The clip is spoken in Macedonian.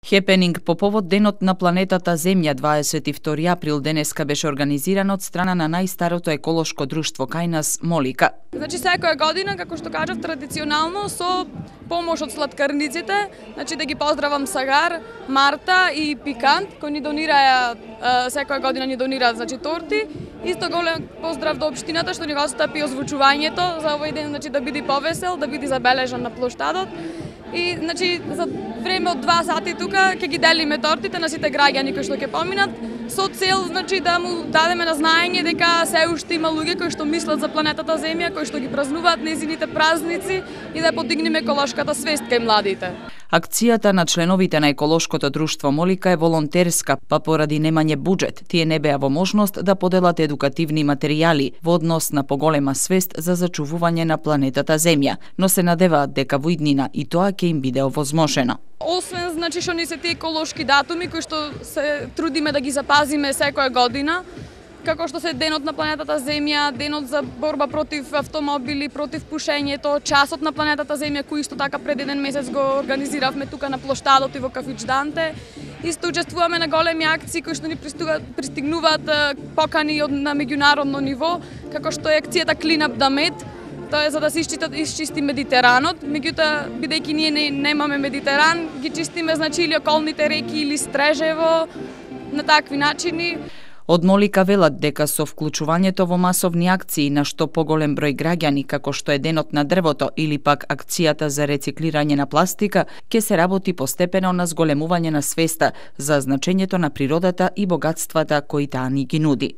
Хепенинг по повод Денот на планетата Земја 22 април денеска беше организиран од страна на најстарото еколошко друштво кај нас Молика. Значи секоја година, како што кажав, традиционално со помош од слаткарниците, значи да ги поздравам Сагар, Марта и Пикант, кои ни донираја секоја година ни донираат значи торти. Исто голем поздрав до општината што ни го отстапи озвучувањето за овој ден, значи да биде повесел, да биде забележан на плоштадот. И значи за време од 2 сати тука ќе ги делиме тортите на сите граѓани кои што ќе поминат со цел значи да му дадеме на знаење дека се уште има луѓе кои што мислат за планетата Земја, кои што ги празнуваат нејзините празници и да подигнеме еколошката свест кај младите. Акцијата на членовите на еколошкото друштво Молика е волонтерска, па поради немање буџет, тие не беа во можност да поделат едукативни материјали во однос на поголема свест за зачувување на планетата Земја, но се надеваат дека во иднина и тоа ќе им биде овозможено. Освен значи што ни се тие еколошки датуми кои што се трудиме да ги запазиме секоја година, како што се Денот на планетата Земја, Денот за борба против автомобили, против пушењето, Часот на планетата Земја, кој исто така пред еден месец го организиравме тука на плоштадот и во кафич Данте. Исто учествуваме на големи акции кои што ни пристигнуваат покани на меѓународно ниво, како што е акцијата Clean Up the Med. Тоа е за да се исчисти Медитеранот, меѓутоа бидејќи ние немаме Медитеран, ги чистиме значи или околните реки или Стрежево на такви начини. Од Молика велат дека со вклучувањето во масовни акции на што поголем број граѓани, како што е Денот на дрвото или пак акцијата за рециклирање на пластика, ќе се работи постепено на зголемување на свеста за значењето на природата и богатствата кои таа ни ги нуди.